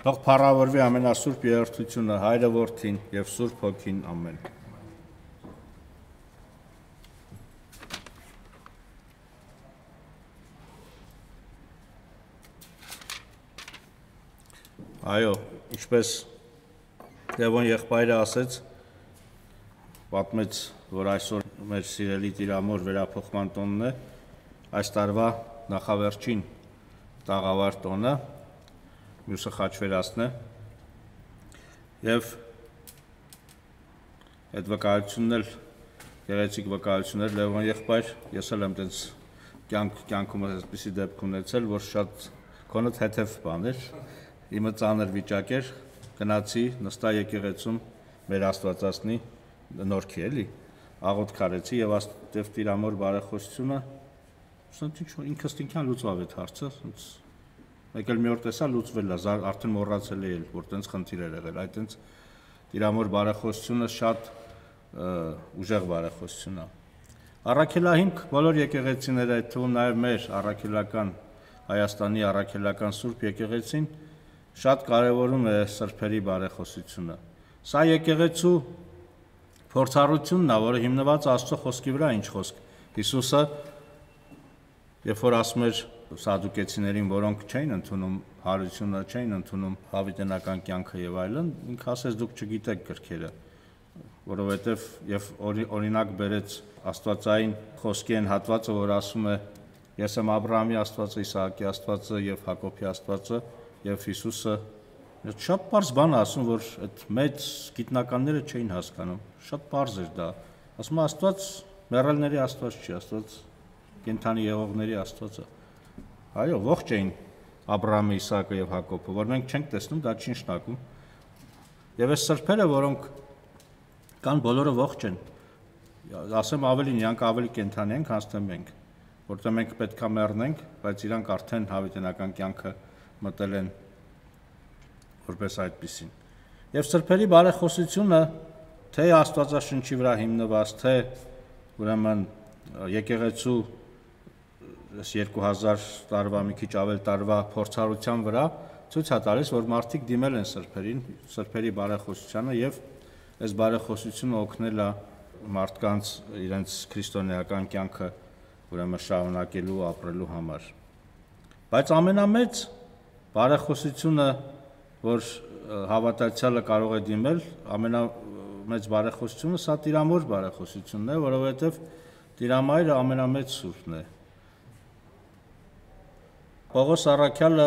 Թող փառավորվի ամենասուրբ երրորդությունը, Հայրը, Որդին եւ Սուրբ Հոգին, ամեն։ Այո, ինչպես Լևոն եղբայրը ասեց, պատմեց, որ այսօր մեր սիրելի Տիրամոր վերափոխման տոնն է, այս տարվա նախավերջին տաղավար տոնը, մյուսը խաչվերածն է, և այդ վկայությունն էլ, գեղեցիկ վկայություն էր, Լևոն եղբայր, ես էլ եմ տենց կյանքում այսպիսի դեպք ունեցել, որ շատ քոնդ հետև բան էր, իմը ծանր վիճակ էր, գնացի, նստա եկեղեցում մեր Աստվածածնի նորքի էլի, աղոթք արեցի և Տիրամոր բարեխոսությունը, ինքս ինքյան լուծվավ այդ հարցը, մեկ էլ մի օր տեսա լուծվել է, արդեն մոռացել է, որ տենց խնդիր էր եղել, այդ տենց Տիրամոր բարեխոսությունը շատ ուժեղ բարեխոսություն է։ Առաքելահիմք բոլոր եկեղեցիները, այդ թվում նաև մեր առաքելական Հայաստանի առաքելական Սուրբ եկեղեցին շատ կարևորում է սրբերի բարեխոսությունը։ Սա եկեղեցու փորձառությունն է, որը հիմնված Աստծո խոսքի վրա, ինչ խոսք։ Հիսուսը, երբ որ ասում էր սադուկեցիներին, որոնք չէին ընդունում հարությունը, չէին ընդունում հավիտենական կյանքը եւ այլն, ինքը ասեց դուք չգիտեք գրքերը, որովհետեւ եւ օրինակ բերեց Աստվածային խոսքի այն հատվածը, որ ասում է ես եմ Աբրահամի Աստվածը, Իսահակի Աստվածը եւ Հակոբի Աստվածը եւ Հիսուսը շատ պարզ բան է ասում, որ այդ մեծ գիտնականները չէին հասկանում, շատ պարզ էր դա, ասում է Աստված մեռելների Աստված չի, Աստված կենդանի եղողների Աստվածը։ Այո, ողջ էին Աբրահամը, Իսահակը եւ Հակոբը, որ մենք չենք տեսնում, դա չի նշանակում։ Եվ այս սրբերը, որոնք կան, բոլորը ողջ են։ Ասեմ ավելին, իրանք ավելի կենդանի են, քան թե մենք, որտեղ մենք պետք է մեռնենք, բայց իրանք արդեն հավիտենական կյանքը մտել են որպես այդպիսին։ Եվ սրբերի բարեխոսությունը թե Աստվածաշնչի վրա հիմնված, թե ուրեմն եկեղեցու 2000 տարվա, մի քիչ ավել տարվա փորձառության վրա ցույց է տալիս, որ մարդիկ դիմել են սրբերին, սրբերի բարեխոսությանը եւ այս բարեխոսությունը օգնել է մարդկանց իրենց քրիստոնեական կյանքը ուրեմն շարունակելու, ապրելու համար։ Բայց ամենամեծ բարեխոսությունը, որ հավատացյալը կարող է դիմել, ամենամեծ բարեխոսությունը սա Տիրամոր բարեխոսությունն է, որովհետեւ Տիրամայրը ամենամեծ սուրբն է։ Պողոս առաքյալը,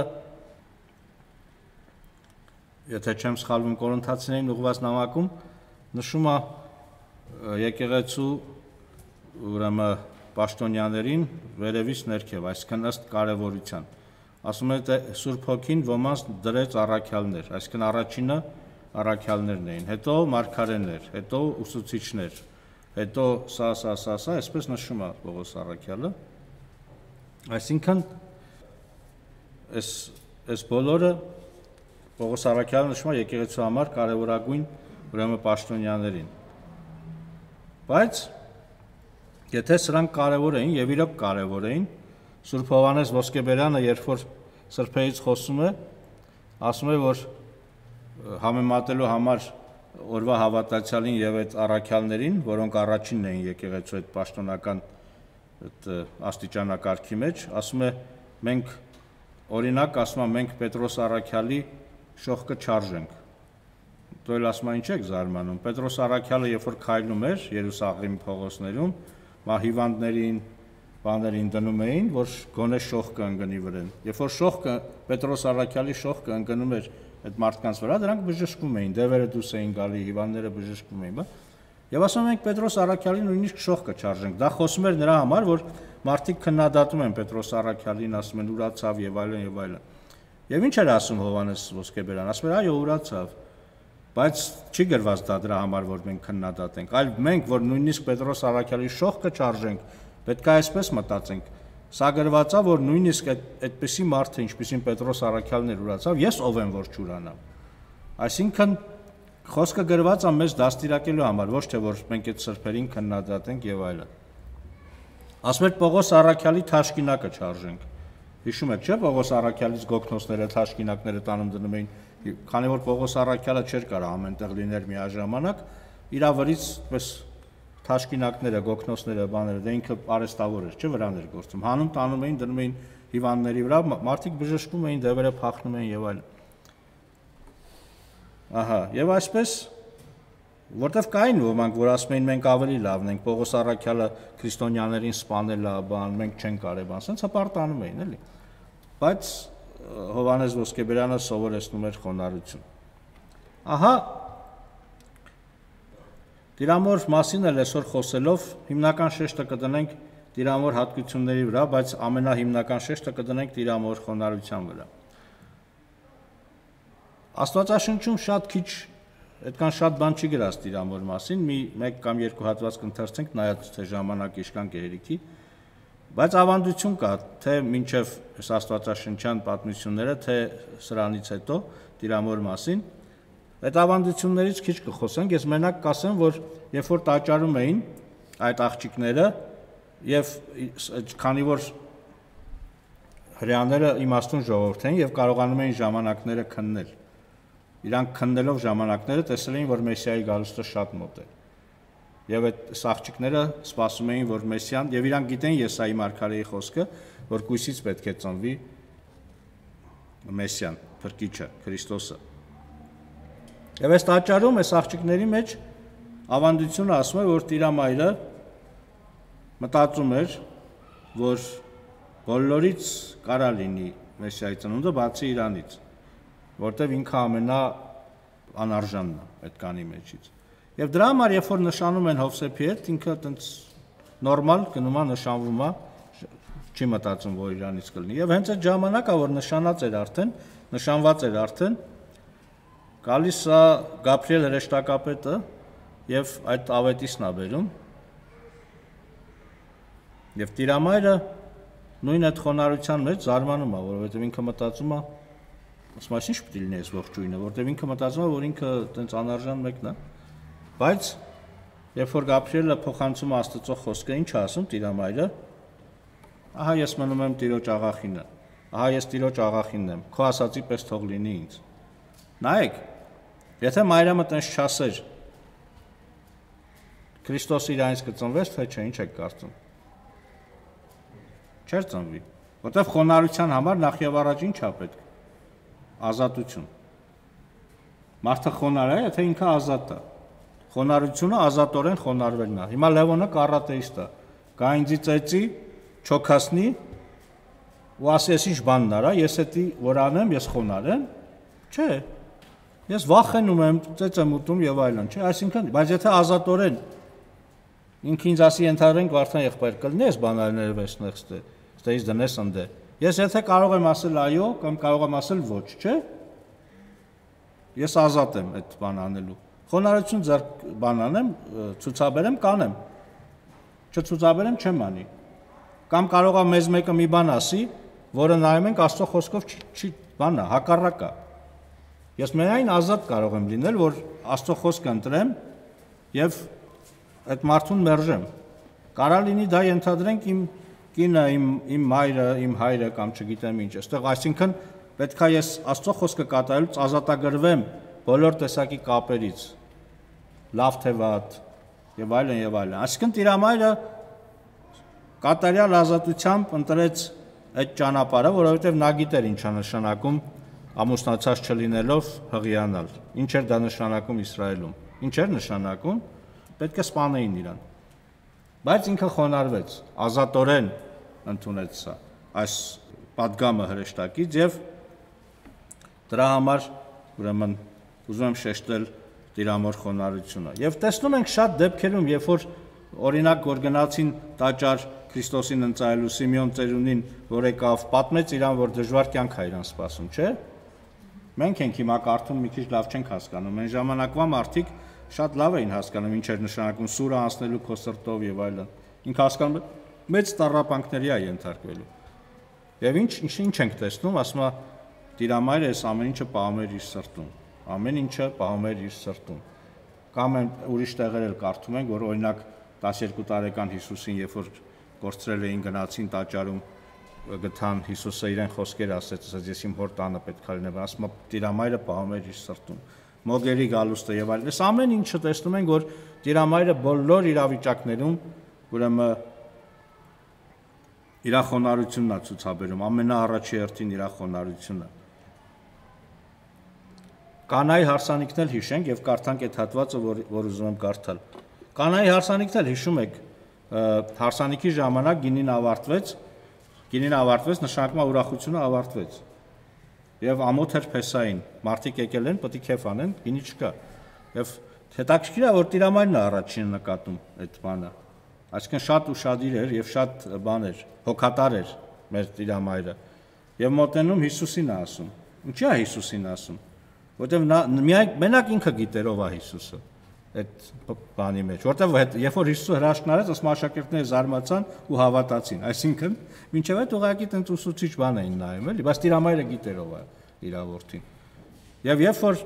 եթե չեմ սխալվում, Կորինթացիներին ուղղված նամակում նշում է եկեղեցու ուրեմն պաշտոնյաներին վերևից ներքև, այսինքն ըստ կարևորության։ Ասում է Սուրբ Հոգին ոմանց դրեց առաքյալներ, այսինքն առաջինը առաքյալներն էին, հետո մարգարեներ, հետո ուսուցիչներ, հետո սա, այսպես նշում է Պողոս առաքյալը։ Այսինքն այս բոլորը Պողոս առաքյալը նշում է եկեղեցու համար կարևորագույն ուրեմն պաշտոնյաներին։ Բայց եթե սրանք կարևոր էին եւ իրոք կարևոր էին, Սուրբ Հովհաննես Ոսկեբերյանը, երբ որ սրբերից խոսում է, ասում է, որ համեմատելու համար օրվա հավատացյալին եւ այդ առաքյալներին, որոնք առաջինն էին եկեղեցու այդ պաշտոնական աստիճանակարգի մեջ, ասում է մենք օրինակ ասում է մենք Պետրոս առաքյալի շողքը չարժենք։ Դու էլ ասում ես ինչ եք զարմանում։ Պետրոս առաքյալը երբ որ քայլում էր Երուսաղեմի փողոցներում, հիվանդներին, բաներին դնում էին, որ գոնե շողքը ընկնի վրան։ Երբ որ շողքը Պետրոս առաքյալի շողքը ընկնում էր այդ մարդկանց վրա, դրանք բժշկվում էին, դևերը դուրս էին գալի, հիվանդները բժշկվում էին, Եվ ասում ենք Պետրոս առաքյալին նույնիսկ շողքը չարժենք։ Դա խոսում էր նրա համար, որ մարդիկ քննադատում են Պետրոս առաքյալին, ասում են ուրացավ եւ այլն եւ այլն։ Եվ ինչ էր ասում Հովհաննես Ոսկեբերյանը, ասում էր այո ուրացավ, բայց չի գրված դա դրա համար, որ մենք քննադատենք, այլ մենք, որ նույնիսկ Պետրոս առաքյալի շողքը չարժենք, պետք է այսպես մտածենք։ Սա գրված է, որ նույնիսկ այդպիսի մարդը, ինչպիսին Պետրոս առաքյալն էր ուրացավ, ես ով եմ որ չուրանամ։ Այսինքն խոսքը գրված է մեզ դաստիարակելու համար, ոչ թե որ մենք այդ սրբերին քննադատենք եւ այլն։ Ասում էր Պողոս առաքյալի թաշկինակը չարժենք։ Հիշում եք, չէ՞, Պողոս առաքյալից գոգնոցները, թաշկինակները տանում դնում էին Քանի որ Պողոս Առաքյալը չէր կարող ամենտեղ լինել միաժամանակ, իր վրից պես թաշկինակները, գոգնոցները, բաները, դե ինքը արեստավոր էր, չէ, վրան էր գործում։ Հանում տանում էին, դնում էին հիվանդների վրա, մարդիկ բժշկում էին, դևերը փախնում էին եւ այլն։ Ահա, եւ այսպես որտեվ կային ոմանք, որ ասում էին մենք ավելի լավն ենք, Պողոս Առաքյալը քրիստոնյաներին սպանել է, բան, մենք չենք կարել, բան, ասենց հպարտանում էին, էլի։ Բայց Հովհաննես Ոսկեբերյանը սովորեցնում էր խոնարհություն։ Ահա Տիրամոր մասին էլ այսօր խոսելով հիմնական շեշտը կդնենք Տիրամոր հատկությունների վրա, բայց ամենահիմնական շեշտը կդնենք Տիրամոր խոնարհության վրա։ Աստվածաշնչում շատ քիչ, այդքան շատ բան չի գրած Տիրամոր մասին, մեկ կամ երկու հատված կընթերցենք, նայած թե ժամանակ իշքան կհերիքի, բայց ավանդություն կա, թե մինչև աստվածաշնչյան պատմությունները, թե սրանից հետո Տիրամոր մասին, այդ ավանդություններից քիչ կխոսենք, ես մենակ կասեմ, որ երբ որ տաճարում էին այդ աղջիկները եւ քանի որ հրեաները իմաստուն ժողովուրդ էին եւ կարողանում էին ժամանակները քննել, իրանք քննելով ժամանակները տեսել էին, որ Մեսիայի գալուստը շատ մոտ է։ Եվ այդ աղջիկները սպասում էին, որ Մեսիան, եւ իրանք գիտեն Եսայի մարգարեի խոսքը, որ կույսից պետք է ծնվի Մեսիան, Փրկիչը, Քրիստոսը։ Եվ այս տաճարում այս աղջիկների մեջ ավանդությունը ասում է, որ Տիրամայրը մտածում էր, որ բոլորից կարա լինի Մեսիայի ծնունդը, բացի իրանից, որտեվ ինքը ամենաանարժանն է այդ կանի մեջից։ Եվ դրա համար, երբ որ նշանում են Հովսեփի հետ, ինքը այտենց նորմալ գնում է, նշանվում է, չի մտածում, որ իրանից կլինի։ Եվ հենց այդ ժամանակը, որ նշանված էր արդեն, գալիս է Գաբրիել հրեշտակապետը եւ այդ ավետիսն է բերում։ Եվ Տիրամայրը նույն այդ խոնարհության մեջ զարմանում է, որովհետեւ ինքը մտածում է, ասում է, ինչ պետք է լինի այս ողջույնը, որովհետեւ ինքը մտածում է, որ ինքը այտենց անարժան մեկն է։ Բայց երբ որ Գաբրիելը փոխանցում է Աստծո խոսքը, ինչ է ասում Տիրամայրը, ահա ես մնում եմ Տիրոջ աղախինը, ահա ես Տիրոջ աղախինն եմ, քո ասածի պես թող լինի ինձ։ Նայեք, եթե Մարիամը տենց չասեր, Քրիստոսը իրանից կծնվեց, թե չէ, ինչ եք կարծում։ Չէր ծնվի, որտեղ խոնարհության համար նախ եւ առաջ ինչ է պետք։ Ազատություն։ Մարդը խոնարհ է, եթե ինքը ազատ է։ Խոնարհությունը ազատորեն խոնարհվելն է։ Հիմա Լևոնը կառատեիստ է։ Գա ինձի ծեծի, չոքասնի ու ասի, ես ինչ բանն արա, ես էդի որ անեմ, ես խոնարհ եմ։ Չէ։ Ես վախենում եմ, ծեծ եմ ուտում եւ այլն, չէ, այսինքն, բայց եթե ազատորեն ինքը ինձ ասի ենթադրենք վարդան եղբայր կլինի, ես բանալիները վերցնես ստեից դնես ընդե։ Ես եթե կարող եմ ասել այո կամ կարող եմ ասել ոչ, չէ։ Ես ազատ եմ այդ բան անելու։ Խոնարհություն ձեռք բան անեմ, ցուցաբերեմ, կանեմ։ Չցուցաբերեմ, չեմ անի։ Կամ կարող է մեզ մեկը մի բան ասի, որը նայում ենք Աստծո խոսքով չի բանա, հակառակա։ Ես միայն ազատ կարող եմ լինել, որ Աստծո խոսքը ընտրեմ եւ այդ մարդուն մերժեմ։ Կարա լինի դա ենթադրենք իմ կինը, իմ մայրը, իմ հայրը կամ չգիտեմ ինչ, այստեղ այսինքն պետք է ես Աստծո խոսքը կատարելուց ազատագրվեմ բոլոր տեսակի կապերից, լավ թե վատ եւ այլն եւ այլն։ Այսինքն Տիրամայրը կատարյալ ազատությամբ ընտրեց այդ ճանապարհը, որովհետեւ նա գիտեր ինչ է նշանակում ամուսնացած չլինելով հղիանալ։ Ինչ էր դա նշանակում Իսրայելում։ Ինչ էր նշանակում։ Պետք է սպանեին իրան։ Բայց ինքը խոնարհվեց, ազատորեն ընդունեց սա, այս պատգամը հրեշտակից եւ դրա համար ուրեմն ուզում եմ շեշտել Տիրամոր խոնարհությունը։ Եվ տեսնում ենք շատ դեպքերում, երբ որ օրինակ որ գնացին տաճար Քրիստոսին ընծայելու Սիմեոն ծերունին, որ եկավ, պատմեց իրան, որ դժվար կյանք է իրան սպասում, չէ՞։ Մենք ենք հիմա կարդում մի քիչ լավ չենք հասկանում։ Այն ժամանակվա մարդիկ շատ լավ էին հասկանում ինչ էր նշանակում սուրը անցնելու քո սրտով եւ այլն։ Ինքը հասկանում է մեծ տառապանքների է ենթարկվելու։ Եվ ինչ ենք տեսնում, ասում է Տիրամայրը այս ամեն ինչը պահում էր իր սրտում։ Ամեն ինչը պահում էր իր սրտում։ Կամ ուրիշ տեղեր էլ կարդում ենք, որ օրինակ 12 տարեկան Հիսուսին, երբ որ կորցրել էին գնացին տաճարում, գտան Հիսուսը իրեն խոսքեր ասեց, ասաց ես իմ հոր տանը պետք է լինեմ, ասում է Տիրամայրը պահում էր իր սրտում։ Մոգերի գալուստը եւ այլն։ Այս ամեն ինչը տեսնում ենք, որ Տիրամայրը բոլոր իրավիճակներում ուրեմն իր խոնարհությունն է ցուցաբերում, ամենաառաջի հերթին իր խոնարհությունը։ Կանայի հարսանիքն էլ հիշենք եւ կարդանք այդ հատվածը, որ ուզում եմ կարդալ։ Կանայի հարսանիքն էլ հիշում եք, հարսանիքի ժամանակ գինին ավարտվեց, նշանակում է ուրախությունը ավարտվեց։ Եվ ամոթ էր Փեսային, մարդիկ եկել են, պետք է քեֆ անեն, գինի չկա։ Եվ հետաքրքիր է, որ Տիրամայրն է առաջինը նկատում այդ բանը։ Այսինքն շատ ուշադիր էր եւ շատ բան էր, հոգատար էր մեր Տիրամայրը։ Եվ մոտենում Հիսուսին է ասում։ Ինչի է Հիսուսին ասում։ Որտեւ մենակ ինքը գիտեր ով է Հիսուսը այդ բանի մեջ, որտեւ երբ որ Հիսուսը հրաշքն արեց, ասում աշակերտները զարմացան ու հավատացին, այսինքն մինչև այդ ուղղակի տենց ուսուցիչ բան էին նայում, էլի, բայց Տիրամայրը գիտեր ով է իր որդին։ Եվ երբ որ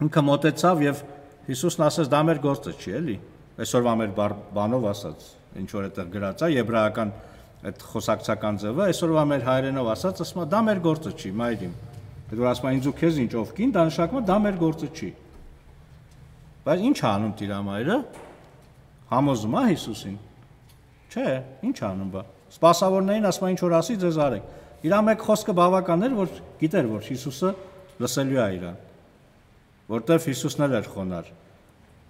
ինքը մոտեցավ եւ Հիսուսն ասաց դա մեր գործը չի, էլի, այսօրվա մեր բանով ասած, ինչ որ այդտեղ գրած է եբրայական այդ խոսակցական ձևը, այսօրվա մեր հայերենով ասած, ասում է դա մեր գործը չի, մայրիմ։ Այդ որ ասում է ինձ ու քեզ ինչ ով կին, դա նշանակում է դա մեր գործը չի։ Բայց ինչ անում Տիրամայրը, համոզում է Հիսուսին, չէ, ինչ անում բա, սպասավորներին ասում է ինչ որ ասի ձեզ արեք, իր մեկ խոսքը բավական էր, որ գիտեր, որ Հիսուսը լսելու է իրան, որտեվ Հիսուսն էլ էր խոնար,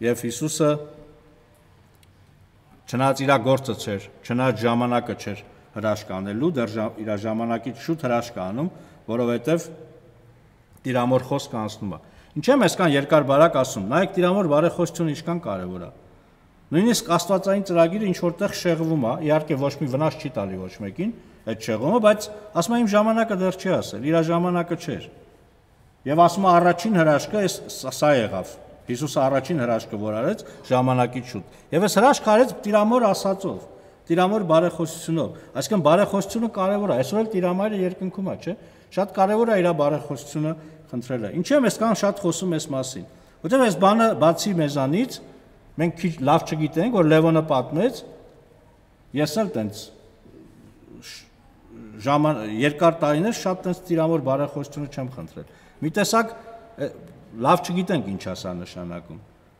և Հիսուսը չնայած իր գործը չէր, չնայած ժամանակը չէր հրաշք անելու, դեռ իր ժամանակից շուտ հրաշք անում, որովհետև Տիրամոր խոսքը անցնում է։ Ինչ եմ այսքան երկար բարակ ասում, նայեք Տիրամոր բարեխոսությունը ինչքան կարևոր է։ Նույնիսկ աստվածային ծրագիրը ինչ որտեղ շեղվում է, իհարկե ոչ մի վնաս չի տալի ոչ մեկին այդ շեղումը, բայց ասում է իմ ժամանակը դեռ չի ասել, իր ժամանակը չէր։ Եվ ասում է առաջին հրաշքը սա եղավ։ Հիսուսը առաջին հրաշքը որ արեց ժամանակից շուտ։ Եվ այս հրաշքը արեց Տիրամոր ասածով, Տիրամոր բարեխոսությունով։ Այսինքն բարեխոսությունը կարևոր է։ Այսօր էլ Տիրամայրը երկնքում է, չէ՞։ Շատ կարևոր է իր բարեխոսությունը խնդրելը։ Ինչի՞ եմ այսքան շատ խոսում այս մասին։ Որտեղ այս բանը բացի մեզանից մենք քիչ լավ չգիտենք, որ Լևոնը պատմեց, ես էլ տենց երկար տարիներ շատ տենց Տիրամոր բարեխոսությունը չեմ խնդրել։ Մի տեսակ լավ չգիտենք ինչ է սա նշանակում։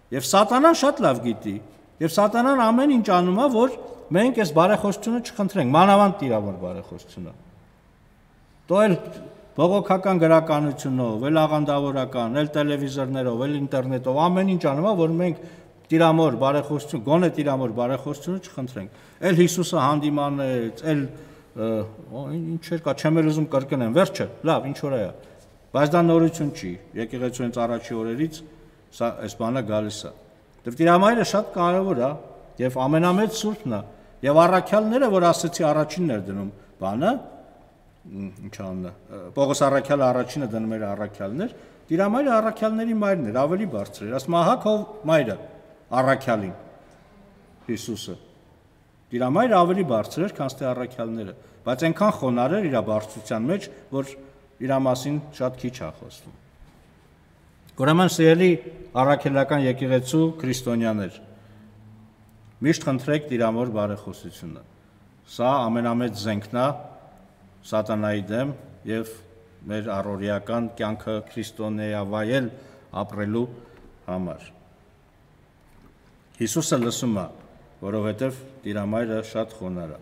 Եվ Սատանան շատ լավ գիտի, եւ Սատանան ամեն ինչ անում է, որ մենք այս բարեխոսությունը չխնդրենք, մանավանդ Տիրամոր բարեխոսությունը։ Դու էլ բողոքական գրականությունով, էլ աղանդավորական, էլ տելևիզորներով, էլ ինտերնետով ամեն ինչ անում է, որ մենք Տիրամոր բարեխոսություն, գոնե Տիրամոր բարեխոսությունը չխնդրենք։ Էլ Հիսուսը հանդիմանեց, էլ ինչեր կա, չեմ էլ ուզում կրկնեմ, վերջը, լավ, ինչ որ է։ Բայց դա նորություն չի։ Եկեղեցու հենց առաջի օրերից սա այս բանը գալիս է։ Դեռ Տիրամայրը շատ կարևոր է եւ ամենամեծ սուրբն է։ Եվ առաքյալները, որ ասեցի առաջինն էր դնում բանը, ինչ անունը, Պողոս առաքյալը առաջինը դնում էր առաքյալներ, Տիրամայրը առաքյալների մայրն էր, ավելի բարձր էր, ասում ահա քո մայրը առաքյալին Հիսուսը։ Տիրամայրը ավելի բարձր էր, քան թե առաքյալները, բայց այնքան խոնար էր իր բարձրության մեջ, որ իր մասին շատ քիչ է խոսվում։ Ուրեմն սիրելի առաքելական եկեղեցու քրիստոնյաներ, միշտ խնդրեք Տիրամոր բարեխոսությունը։ Սա ամենամեծ զենքն է Սատանայի դեմ եւ մեր առօրեական կյանքը քրիստոնեավայել ապրելու համար։ Հիսուսը լսում է, որովհետեւ Տիրամայրը շատ խոնար է։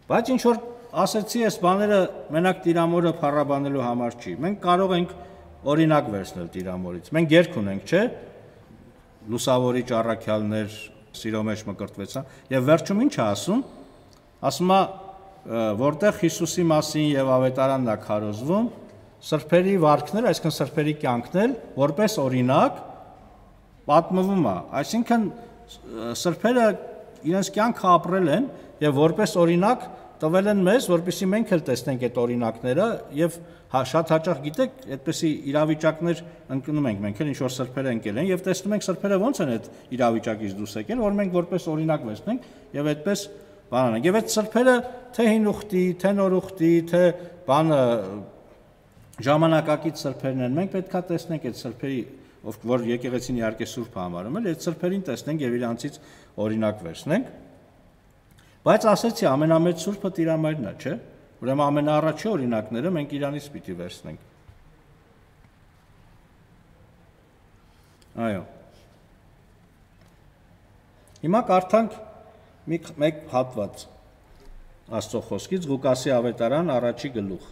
Բայց ինչ որ ասեցի, այս բաները մենակ Տիրամորը փառաբանելու համար չի։ Մենք կարող ենք օրինակ վերցնել Տիրամորից։ Մենք երգ ունենք, չէ՞։ Լուսավորիչ առաքյալներ սիրո մեջ մկրտվեցան, եւ վերջում ինչ է ասում։ Ասում է, որտեղ Հիսուսի մասին եւ ավետարանն է քարոզվում, սրբերի վարքները, այսինքն սրբերի կյանքն էլ որպես օրինակ պատմվում է։ Այսինքն սրբերը իրենց կյանքը ապրել են եւ որպես օրինակ տվել են մեզ, որպեսզի մենք էլ տեսնենք այդ օրինակները եւ շատ հաճախ գիտեք, այդպեսի իրավիճակներ ընկնում ենք մենք էլ ինչ որ սրբերը ընկել են եւ տեսնում ենք սրբերը ոնց են այդ իրավիճակից դուրս եկել, որ մենք որպես օրինակ վերցնենք եւ այդպես բան անենք։ Եվ այդ սրբերը թե հին ուխտի, թե նոր ուխտի, թե բանը ժամանակակից սրբերն են, մենք պետքա տեսնենք այդ սրբերի, որ եկեղեցին իհարկե սուրբ համարում էլ, այդ սրբերին տեսնենք եւ իրանցից օրինակ վերցնենք։ Բայց ասեցի ամենամեծ Սուրբը Տիրամայրն է, չէ՞։ Ուրեմն ամենաառաջի օրինակները մենք իրանից պիտի վերցնենք։ Այո։ Հիմա կարդանք մեկ հատված Աստծո խոսքից Ղուկասի ավետարան առաջի գլուխ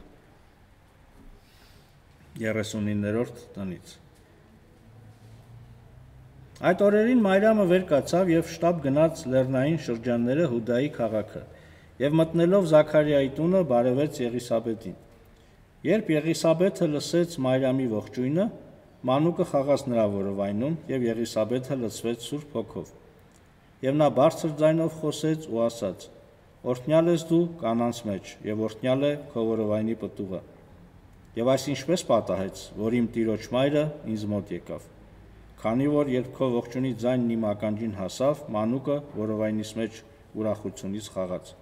39-րդ տնից։ Այդ օրերին Մարիամը վեր կացավ եւ շտապ գնաց լեռնային շրջանները Հուդայի քաղաքը եւ մտնելով Զաքարիայի տունը բարևեց Եղիսաբեթին։ Երբ Եղիսաբեթը լսեց Մարիամի ողջույնը, մանուկը խաղաց նրա որովայնում եւ Եղիսաբեթը լցվեց Սուրբ Հոգով։ Եվ նա բարձր ձայնով խոսեց ու ասաց. Օրհնյալ ես դու կանանց մեջ եւ օրհնյալ է քո որովայնի պտուղը։ Եվ այս ինչպես պատահեց, որ իմ Տիրոջ մայրը ինձ մոտ եկավ։ Քանի որ երբ քո ողջունի ձայնն իմ ականջին հասավ, մանուկը որովայնիս մեջ ուրախությունից խաղաց։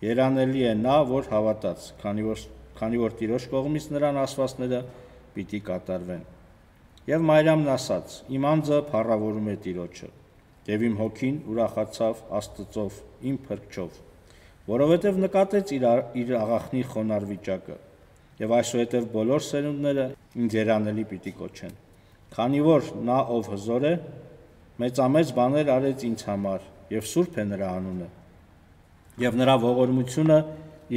Երանելի է նա, որ հավատաց, քանի որ Տիրոջ կողմից նրան ասվածները պիտի կատարվեն։ Եվ Մարիամն ասաց. Իմ անձը փառավորում է Տիրոջը, եւ իմ հոգին ուրախացավ Աստծով, իմ փրկչով, որովհետև նկատեց իր աղախնի խոնար վիճակը, եւ այսուհետև բոլոր սերունդները ինձ երանելի պիտի կոչեն, քանի որ նա ով հզոր է, մեծամեծ բաներ արեց ինձ համար, եւ սուրբ է նրա անունը, եւ նրա ողորմությունը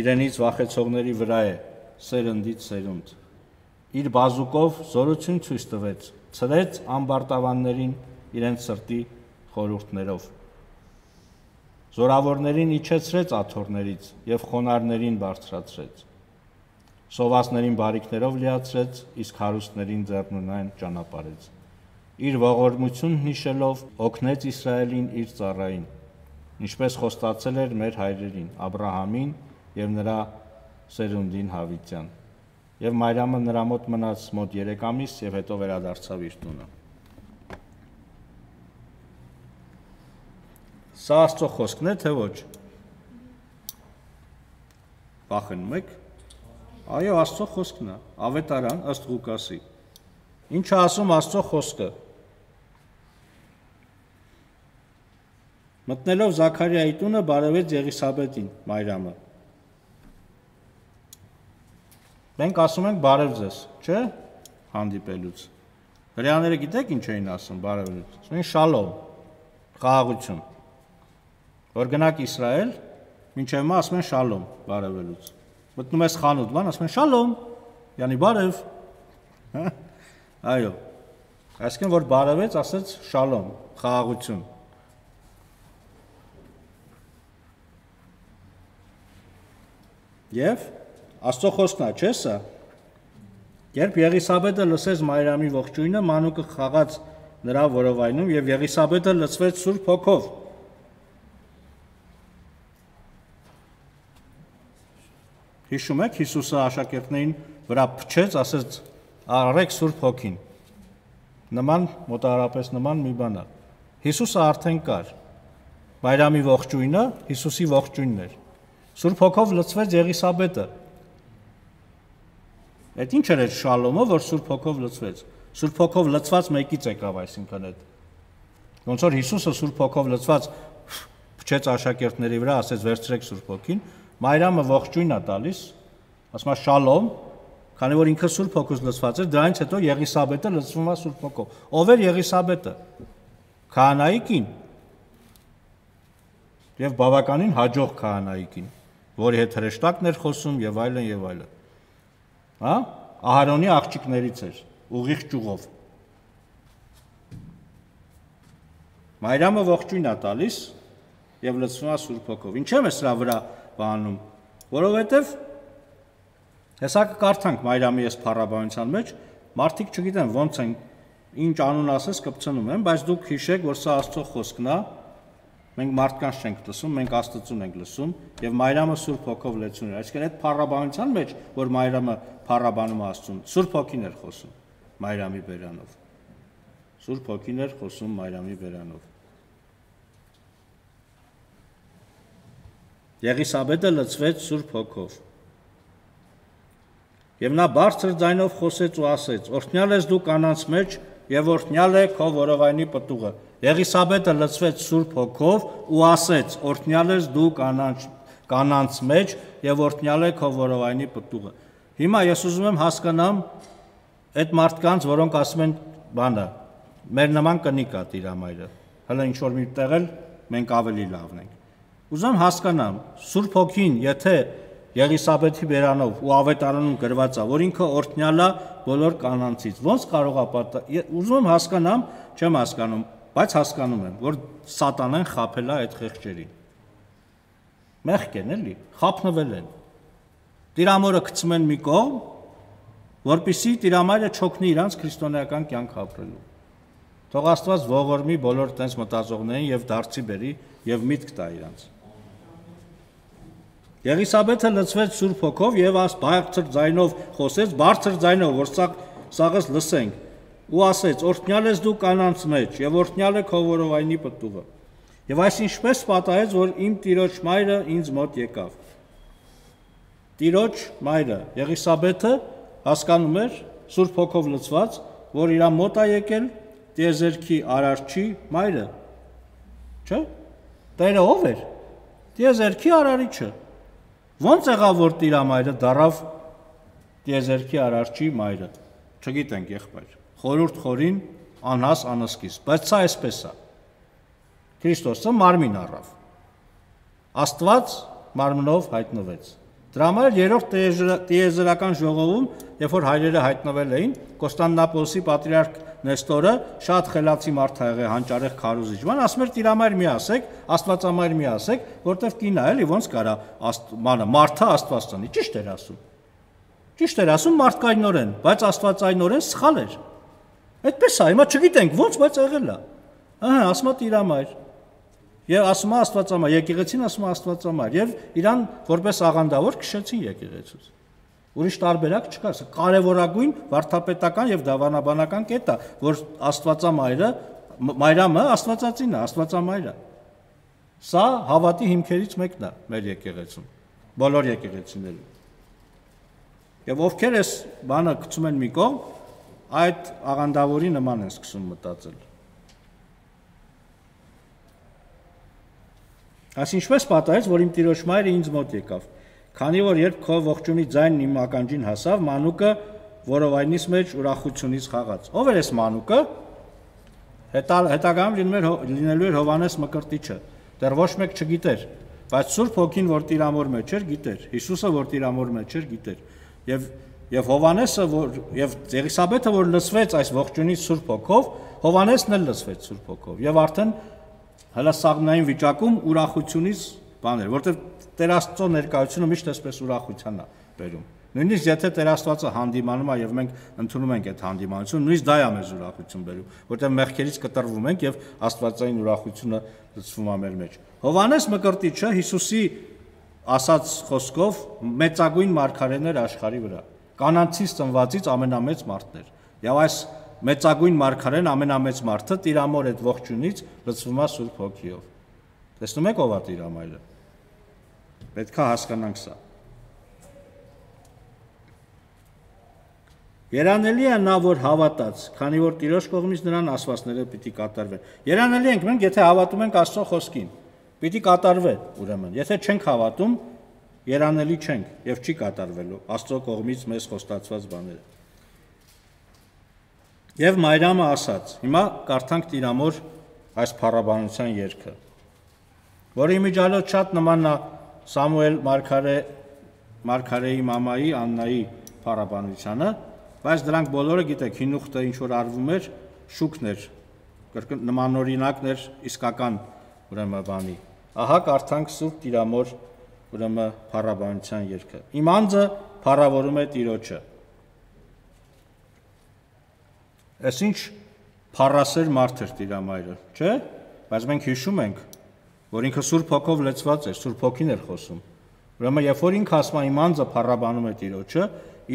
իրենից վախեցողների վրա է, սերնդից սերունդ։ Իր բազուկով զորություն ցույց տվեց, ցրեց ամբարտավաններին իրենց սրտի խորհուրդներով։ Զորավորներին իջեցրեց աթոռներից եւ խոնարհներին բարձրացրեց։ Սովածներին բարիքներով լիացրեց, իսկ հարուստներին ձեռնունայն ճանապարհեց։ Իր ողորմությունն հիշելով օգնեց Իսրայելին իր ծառային, ինչպես խոստացել էր մեր հայրերին, Աբրահամին եւ նրա սերունդին Հավիտյան։ Եվ Մարիամը նրա մոտ մնաց մոտ 3 ամիս եւ հետո վերադարձավ իր տունը։ Սա Աստծո խոսքն է, թե ոչ։ Վախենում եք։ Այո, Աստծո խոսքն է, ավետարան ըստ Ղուկասի։ Ինչ է ասում Աստծո խոսքը։ Մտնելով Զաքարիայի տունը բարևեց Եղիսաբեթին, Մարիամը։ Մենք ասում ենք բարև ձեզ, չէ՞, հանդիպելուց։ Հրեաները գիտեք ինչ էին ասում բարևելուց։ Ասում են շալոմ, խաղաղություն։ Որ գնաք Իսրայել, մինչև հիմա ասում են շալոմ բարևելուց։ Մտնում ես խանութ, բան ասում են շալոմ, յանի բարև։ Այո։ Այսինքն որ բարևեց, ասեց շալոմ, խաղաղություն։ Եվ Աստծո խոսքն է, չէ՞ սա։ Երբ Եղիսաբեթը լսեց Մարիամի ողջույնը, մանուկը խաղաց նրա որովայնում եւ Եղիսաբեթը լցվեց Սուրբ Հոգով։ Հիշում եք, Հիսուսը աշակերտներին վրա փչեց, ասեց. «Արեք Սուրբ Հոգին»։ Նման մոտարապես նման մի բան է։ Հիսուսը արդեն կար։ Մարիամի ողջույնը Հիսուսի ողջույնն էր։ Սուրբ Հոգով լցվեց Եղիսաբեթը։ Այդ ինչ էր շալոմը, որ Սուրբ Հոգով լցվեց։ Սուրբ Հոգով լցված մեկից եկավ, այսինքն այդ։ Ոնց որ Հիսուսը Սուրբ Հոգով լցված փչեց աշակերտների վրա, ասեց վերցրեք Սուրբ Հոգին, Մարիամը ողջույն է տալիս, ասում է շալոմ, քանի որ ինքը Սուրբ Հոգուց լցված էր, դրանից հետո Եղիսաբեթը լցվում է Սուրբ Հոգով։ Ով էր Եղիսաբեթը։ Քահանայի կին։ Եվ բավականին հաջող քահանայի կին, որի հետ հրեշտակն էր խոսում եւ այլն եւ այլն։ Հա? Ահարոնի աղջիկներից էր, ուղիղ ճյուղով։ Մարիամը ողջույն է տալիս եւ լցվում է Սուրբ Հոգով։ Ինչու՞ է սրա վրա բանում, որովհետև հեսա կկարդանք Մարիամի այս փառաբանության մեջ, մարդիկ չգիտեն ոնց են, ինչ անուն ասես կպցնում են, բայց դուք հիշեք, որ սա Աստծո խոսքն է, մենք մարդկանց չենք լսում, մենք Աստծուն ենք լսում, եւ Մարիամը Սուրբ Հոգով լեցուն էր։ Այսինքն այդ փառաբանության մեջ, որ Մարիամը փառաբանում է Աստծուն, Սուրբ Հոգին էր խոսում Մարիամի բերանով։ Սուրբ Հոգին էր խոսում Մարիամի բերանով։ Եղիսաբեթը լցվեց Սուրբ Հոգով։ Եվ նա բարձր ձայնով խոսեց ու ասեց. «Օրհնյալ ես դու կանանց մեջ եւ օրհնյալ է քո որովայնի պտուղը»։ Եղիսաբեթը լցվեց Սուրբ Հոգով ու ասեց. «Օրհնյալ ես դու կանանց մեջ եւ օրհնյալ է քո որովայնի պտուղը»։ Հիմա ես ուզում եմ հասկանամ այդ մարդկանց, որոնք ասում են բանը, մեր նման կնիկ է Տիրամայրը, հələ ինչ որ մի տեղ էլ մենք ավելի լավն ենք։ Ուզում եմ հասկանամ, Սուրբ Հոգին, եթե Եղիսաբեթի բերանով ու ավետարանում գրված է, որ ինքը օրհնյալ է բոլոր կանանցից, ոնց կարող է ուզում եմ հասկանամ, չեմ հասկանում, բայց հասկանում եմ, որ սատանան խաբել է այդ խեղճերին։ Մեղք են էլի, խաբնվել են։ Տիրամորը գցում են մի կողմ, որպեսզի Տիրամայրը չօգնի իրանց քրիստոնեական կյանք ապրելու։ Թող Աստված ողորմի բոլոր տենց մտածողներին եւ դարձի բերի եւ միտք տա իրանց։ Եղիսաբեթը լցվեց Սուրբ Հոգով եւ բարձր ձայնով խոսեց, բարձր ձայնով, որ սաղս լսենք, ու ասեց. «Օրհնյալ ես դու կանանց մեջ եւ օրհնյալ է քո որովայնի պտուղը»։ Եվ այս ինչպես պատահեց, որ իմ Տիրոջ մայրը ինձ մոտ եկավ։ Տիրոջ մայրը Եղիսաբեթը հասկանում էր Սուրբ Հոգով լցված, որ իր մոտ է եկել տիեզերքի արարչի մայրը, չէ՞։ Տերը ով էր։ Տիեզերքի արարիչը։ Ոնց եղավ, որ Տիրամայրը դարավ տիեզերքի արարչի մայրը։ Չգիտենք, եղբայր։ Խորուրդ խորին, անհաս անսկիզ, բայց սա այսպես է։ Քրիստոսը մարմին առավ։ Աստված մարմնով հայտնվեց։ Դրա համար երրորդ տիեզերական ժողովում, երբ որ հայրերը հայտնվել էին, Կոստանդնապոլսի պատրիարք Նեստորը շատ խելացի մարդ ա եղել, հանճարեղ քարոզիչ, ման ասում էր Տիրամայր մի ասեք, Աստվածամայր մի ասեք, որտեվ կին է, էլի ոնց կարա մարդը Աստված տնի, ճիշտ էր ասում։ Ճիշտ էր ասում մարդկայնորեն, բայց աստվածայնորեն սխալ էր։ Այդպես է, հիմա չգիտենք ոնց, բայց եղել է։ Ահա, ասում է Տիրամայր։ Եվ ասում է Աստվածամայր, եկեղեցին ասում է Աստվածամայր, եւ իրան որպես աղանդավոր քշեցին եկեղեցուց։ Ուրիշ տարբերակ չկա, սա կարևորագույն վարդապետական եւ դավանաբանական կետ է, որ Աստվածամայրը, Մայրամը Աստվածածին է, Աստվածամայրը։ Սա հավատի հիմքերից մեկն է մեր եկեղեցում, բոլոր եկեղեցիներում։ Եվ ովքեր էս բանը գցում են մի կողմ, այդ աղանդավորի նման են սկսում մտածել։ Այս ինչպես պատահեց, որ իմ Տիրոջ մայրը ինձ մոտ եկավ, քանի որ երբ քո ողջունի ձայնն իմ ականջին հասավ, մանուկը որովայնիս մեջ ուրախությունից խաղաց։ Ով էր այս մանուկը։ Հետագայում լինելու էր Հովհաննես Մկրտիչը։ Դեռ ոչ մեկ չգիտեր, բայց Սուրբ Հոգին, որ Տիրամոր մեջ էր, գիտեր, Հիսուսը, որ Տիրամոր մեջ էր, գիտեր։ Եվ Հովհաննեսը, եւ Եղիսաբեթը, որ լցվեց այս ողջունից Սուրբ Հոգով, Հովհաննեսն էլ լցվեց Սուրբ Հոգով, եւ արդեն հələ սաղմնային վիճակում ուրախությունից բան էր, որտեղ Տեր Աստծո ներկայությունը միշտ այսպես ուրախության է բերում։ Նույնիսկ եթե Տեր Աստվածը հանդիմանում է եւ մենք ընդունում ենք այդ հանդիմանությունը, նույնիսկ դա է մեզ ուրախություն բերում, որտեղ մեղքերից կտրվում ենք եւ Աստվածային ուրախությունը լցվում է մեր մեջ։ Հովհաննես Մկրտիչը Հիսուսի ասած խոսքով մեծագույն մարգարեն էր աշխարհի վրա։ Կանանցից ծնվածից ամենամեծ մարդն էր։ Եվ այս մեծագույն մարգարեն ամենամեծ մարդը Տիրամոր այդ ողջունից լցվում է Սուրբ Հոգիով։ Տեսնում եք ով է Տիրամայրը։ Պետք է հասկանանք սա։ Երանելի է նա, որ հավատաց, քանի որ Տիրոջ կողմից նրան ասվածները պիտի կատարվեն։ Երանելի ենք մենք, եթե հավատում ենք Աստծո խոսքին, պիտի կատարվեն, ուրեմն։ Եթե չենք հավատում, երանելի չենք եւ չի կատարվելու Աստծո կողմից մեզ խոստացված բաները։ Եվ Մայրամը ասաց, հիմա կարդանք Տիրամոր այս փառաբանության երգը, որի միջալոց շատ նման է Սամուել մարգարեի մամայի Աննայի փառաբանությանը, բայց դրանք բոլորը գիտեք, հինուխտը ինչ որ արվում էր, շուկն էր, նմանօրինակն էր իսկական ուրեմն բանի։ Ահա կարդանք Սուրբ Տիրամոր ուրեմն փառաբանության երգը։ Իմ անձը փառավորում է Տիրոջը։ Այս ինչ փառասեր մարդ էր Տիրամայրը, չէ՞։ Բայց մենք հիշում ենք, որ ինքը Սուրբ Հոգով լեցված էր, Սուրբ Հոգին էր խոսում։ Ուրեմն երբ որ ինքը ասում է իմ անձը փառաբանում է Տիրոջը,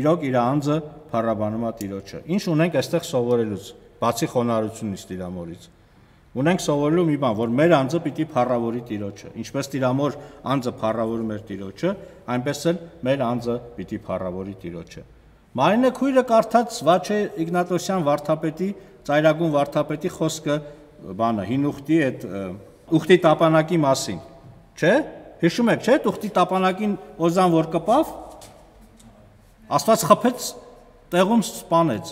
իրոք իր անձը փառաբանում է Տիրոջը։ Ինչ ունենք այստեղ սովորելուց, բացի խոնարհությունից Տիրամորից։ Ունենք սովորելու մի բան, որ մեր անձը պիտի փառավորի Տիրոջը։ Ինչպես Տիրամոր անձը փառավորում էր Տիրոջը, այնպես էլ մեր անձը պիտի փառավորի Տիրոջը։ Մարինե քույրը կարդաց Վաչե Իգնատոսյան վարդապետի, ծայրագուն վարդապետի խոսքը բանը հին ուխտի այդ ուխտի տապանակի մասին, չէ՞։ Հիշում եք, չէ՞, ուխտի տապանակին Օզան որ կպավ, Աստված խփեց, տեղում սպանեց։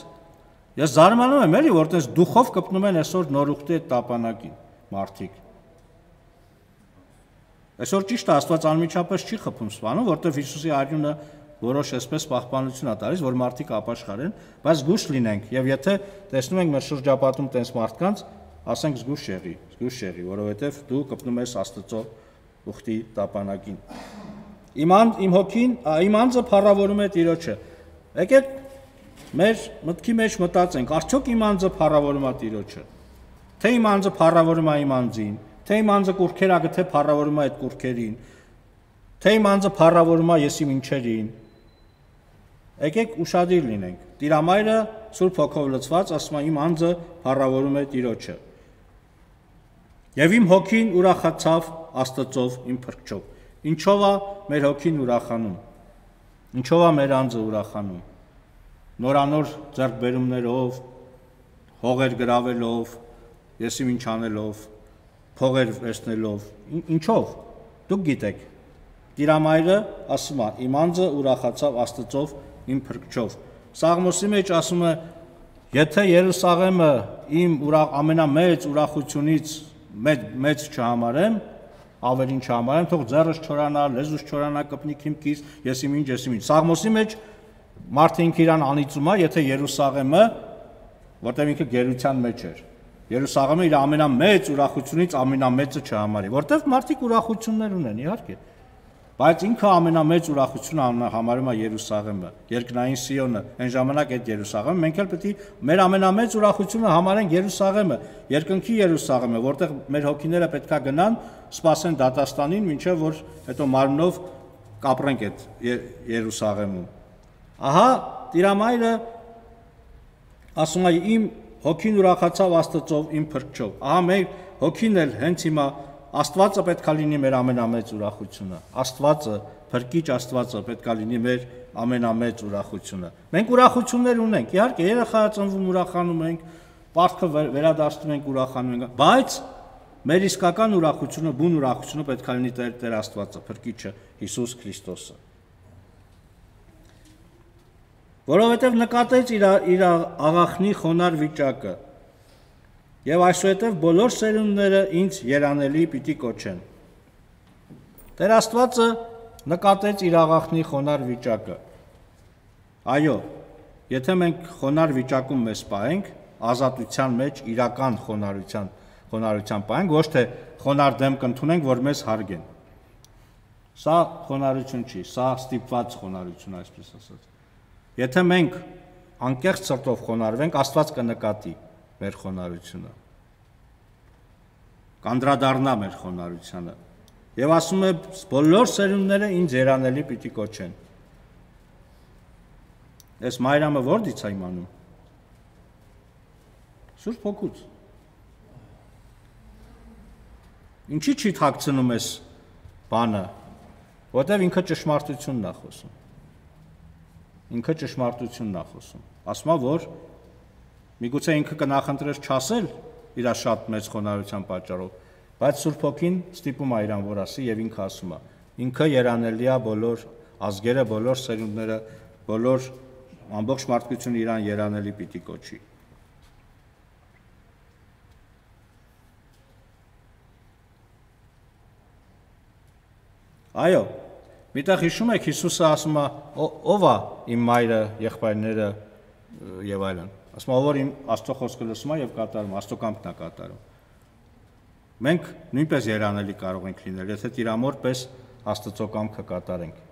Ես զարմանում եմ, էլի, որ տես դուխով կպնում են այսօր նոր ուխտի այդ տապանակին մարդիկ։ Այսօր ճիշտ է, Աստված անմիջապես չի խփում սպանում, որտեղ Հիսուսի արյունը որոշ այսպես պահպանություն է տալիս, որ մարդիկ ապաշխարեն, բայց զգուշ լինենք, եւ եթե տեսնում ենք մեր շրջապատում տես մարդկանց, ասենք զգուշ եղի, որովհետեւ դու կպնում ես Աստծո ուխտի տապանակին։ Իմ հոգին, իմ անձը փառավորում է Տիրոջը։ Եկեք մեր մտքի մեջ մտածենք, արդյոք իմ անձը փառավորում է Տիրոջը։ Թե իմ անձը փառավորում է իմ անձին, թե իմ անձը կուրքեր ա գթե փառավորում է այդ կուրքերին, թե իմ անձը փառավորում է ես իմ ինչերին։ Եկեք ուշադիր լինենք։ Տիրամայրը Սուրբ Հոգով լցված ասում է իմ անձը փառավորում է Տիրոջը։ Եվ իմ հոգին ուրախացավ Աստծով իմ փրկչով։ Ինչով է մեր հոգին ուրախանում։ Ինչով է մեր անձը ուրախանում։ Նորանոր ձեռքբերումներով, հողեր գրավելով, ես իմ ինչ անելով, փողեր վերցնելով, ինչով։ Դուք գիտեք։ Տիրամայրը ասում է իմ անձը ուրախացավ Աստծով իմ փրկչով։ Սաղմոսի մեջ ասում է եթե Երուսաղեմը իմ ամենամեծ ուրախությունից մեծ չհամարեմ, ավելին չհամարեմ, թող ձեռս չորանա, լեզուս չորանա, կպնի քիմքից, ես իմ ինչ։ Սաղմոսի մեջ մարդը ինքը իրան անիծում է, եթե Երուսաղեմը, որտեղ ինքը գերության մեջ էր, Երուսաղեմը իր ամենամեծ ուրախությունից ամենամեծը չհամարի, որտեղ մարդիկ ուրախություններ ունեն, իհարկե, բայց ինքը ամենամեծ ուրախությունը համարում է Երուսաղեմը, երկնային Սիոնը, այն ժամանակ այդ Երուսաղեմը, մենք էլ պետք է մեր ամենամեծ ուրախությունը համարենք Երուսաղեմը, երկնքի Երուսաղեմը, որտեղ մեր հոգիները պետք է գնան, սպասեն դատաստանին, մինչև որ հետո մարմնով կապրենք այդ Երուսաղեմում։ Ահա Տիրամայրը ասում է իմ հոգին ուրախացավ Աստծով իմ փրկչով։ Ահա մեր հոգին էլ հենց հիմա Աստվածը պետք է լինի մեր ամենամեծ ուրախությունը։ Աստվածը, փրկիչ Աստվածը պետք է լինի մեր ամենամեծ ուրախությունը։ Մենք ուրախություններ ունենք, իհարկե, երեխա ծնվում ուրախանում ենք, պարտքը վերադարձնում ենք ուրախանում ենք, բայց մեր իսկական ուրախությունը, բուն ուրախությունը պետք է լինի Տեր Աստվածը, փրկիչը Հիսուս Քրիստոսը։ Որովհետև նկատեց իր աղախնի խոնար վիճակը, եւ այսուհետև բոլոր սերունդները ինձ երանելի պիտի կոչեն։ Տեր Աստվածը նկատեց իր աղախնի խոնար վիճակը։ Այո, եթե մենք խոնար վիճակում մեզ պահենք, ազատության մեջ իրական խոնարհության պահենք, ոչ թե խոնար դեմք ընդունենք, որ մեզ հարգեն։ Սա խոնարհություն չի, սա ստիպված խոնարհություն, այսպես ասած։ Եթե մենք անկեղծ սրտով խոնարհվենք, Աստված կնկատի մեր խոնարհությունը, կանդրադառնա մեր խոնարհությանը, եւ ասում է բոլոր սերունդները ինձ երանելի պիտի կոչեն։ Այս Մայրամը որտից է իմանում։ Սուրբ Հոգուց։ Ինչի՞ չի թաքցնում այս բանը, որտեղ ինքը ճշմարտությունն է խոսում։ Ինքը ճշմարտությունն է խոսում։ Ասում է, որ միգուցե ինքը կնախընտրեր չասել իր շատ մեծ խոնարհության պատճառով, բայց Սուրբ Հոգին ստիպում է իրան, որ ասի, եւ ինքը ասում է։ Ինքը երանելի է բոլոր ազգերը, բոլոր սերունդները, բոլոր ամբողջ մարդկությունը իրան երանելի պիտի կոչի։ Այո, միտեղ հիշում եք Հիսուսը ասում է, ով է իմ մայրը, եղբայրները եւ այլն։ Ասում է, որ իմ Աստծո խոսքը լսում է եւ կատարում, Աստծո կամքն է կատարում։ Մենք նույնպես երանելի կարող ենք լինել, եթե Տիրամոր պես Աստծո կամքը կատարենք։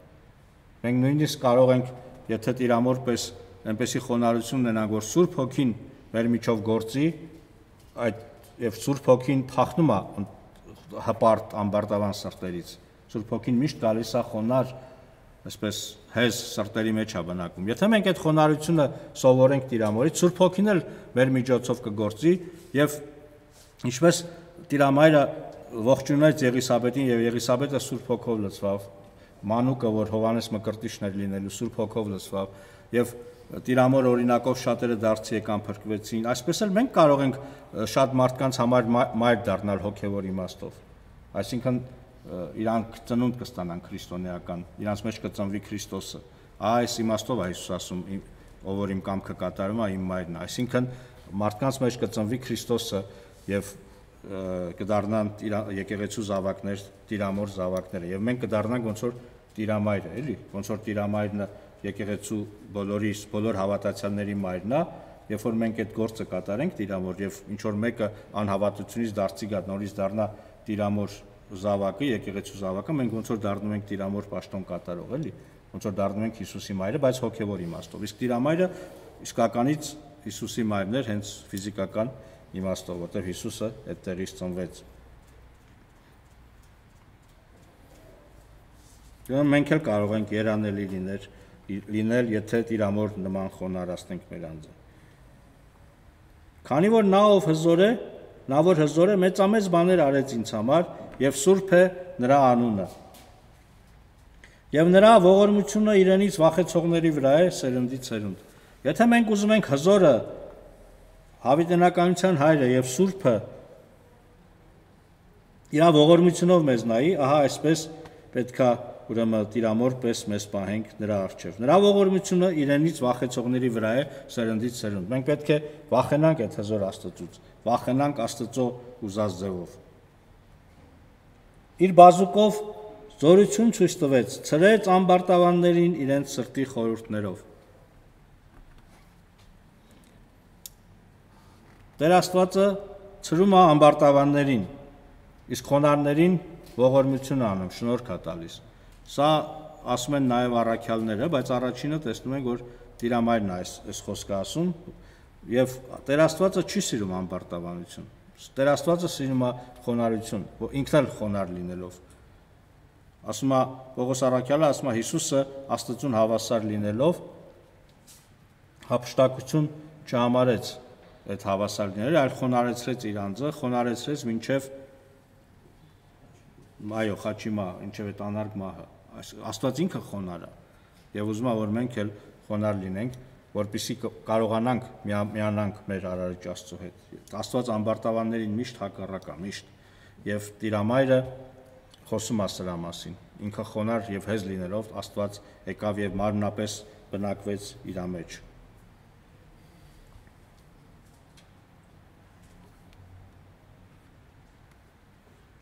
Մենք նույնիսկ կարող ենք, եթե Տիրամոր պես այնպեսի խոնարհություն ունենանք, որ Սուրբ Հոգին մեր միջով գործի, այդ եւ Սուրբ Հոգին թախնում է հպարտ ամբարտավան սրտերից։ Սուրբ Հոգին միշտ գալիս է խոնար, այսպես հեզ սրտերի մեջ է բնակվում։ Եթե մենք այդ խոնարհությունը սովորենք Տիրամորից, Սուրբ Հոգին էլ մեր միջոցով կգործի եւ ինչպես Տիրամայրը ողջունեց Եղիսաբեթին եւ Եղիսաբեթը Սուրբ Հոգով լցվավ, Մանուկը, որ Հովանես Մկրտիչն էր լինելու, Սուրբ Հոգով լցվավ, եւ Տիրամոր օրինակով շատերը դարձի եկան փրկվեցին, այսպես էլ մենք կարող ենք շատ մարդկանց համար մայր դառնալ հոգևոր իմաստով, այսինքն իրանք ծնունդ կստանան քրիստոնեական, իրանց մեջ կծնվի Քրիստոսը, այս իմաստով է Հիսուս ասում, ով որ իմ կամքը կատարում է, իմ մայրն է, այսինքն մարդկանց մեջ կծնվի Քրիստոսը եւ կդառնան եկեղեցու զավակներ, Տիրամոր զավակները եւ մենք կդառնանք ոնց որ Տիրամայրը, էլի, ոնց որ Տիրամայրն եկեղեցու բոլոր հավատացյալների մայրն է, երբ որ մենք այդ գործը կատարենք Տիրամոր եւ ինչ որ մեկը անհավատությունից դարձի գա, նորից դառնա Տիրամոր զավակը, եկեղեցու զավակը, մենք ոնց որ դառնում ենք Տիրամոր պաշտոն կատարող, էլի, ոնց որ դառնում ենք Հիսուսի մայրը, բայց հոգևոր իմաստով։ Իսկ Տիրամայրը իսկականից Հիսուսի մայրն էր, հենց ֆիզիկական իմաստով, որտեղ Հիսուսը այդտեղից ծնվեց։ Մենք էլ կարող ենք երանելի լինել, եթե Տիրամոր նման խոնարհացնենք մեր անձը։ Քանի որ նա որ հզոր է, մեծամեծ բաներ արեց ինձ համար, եւ սուրբ է նրա անունը։ Եվ նրա ողորմությունը իրենից վախեցողների վրա է սերնդից սերունդ։ Եթե մենք ուզում ենք հզորը, հավիտենականության հայրը եւ սուրբը իր ողորմությունով մեզ նայի, ահա այսպես պետքա ուրեմն Տիրամոր պես մեզ պահենք նրա առջև։ Նրա ողորմությունը իրենից վախեցողների վրա է սերնդից սերունդ։ Մենք պետք է վախենանք այդ հզոր Աստծուց, վախենանք Աստծո ուզած ձևով։ Իր բազուկով զորություն ցույց տվեց, ցրեց ամբարտավաններին իրենց սրտի խորհուրդներով։ Տեր Աստվածը ցրում է ամբարտավաններին, իսկ խոնարհներին ողորմություն անում, շնորհք է տալիս։ Սա ասում են նաև առաքյալները, բայց առաջինը տեսնում ենք, որ Տիրամայրն է այս խոսքը ասում, եւ Տեր Աստվածը չի սիրում ամբարտավանություն։ Տեր Աստվածը սիրում է խոնարհություն, ինքն էլ խոնարհ լինելով։ Ասում է Պողոս առաքյալը, ասում է Հիսուսը Աստծուն հավասար լինելով հափշտակություն չհամարեց այդ հավասար լինելը, այլ խոնարհեցրեց իր անձը, խոնարհեցրեց մինչև խաչիմա, ինչև այդ անարգ մահը։ Աստված ինքը խոնարհ է եւ ուզում է, որ մենք էլ խոնարհ լինենք, որպեսզի կարողանանք միանանք մեր արարիչ Աստծո հետ։ Աստված ամբարտավաններին միշտ հակառակ է, միշտ, եւ Տիրամայրը խոսում է սրա մասին։ Ինքը խոնարհ եւ հեզ լինելով Աստված եկավ եւ մարմնապես բնակվեց իր մեջ։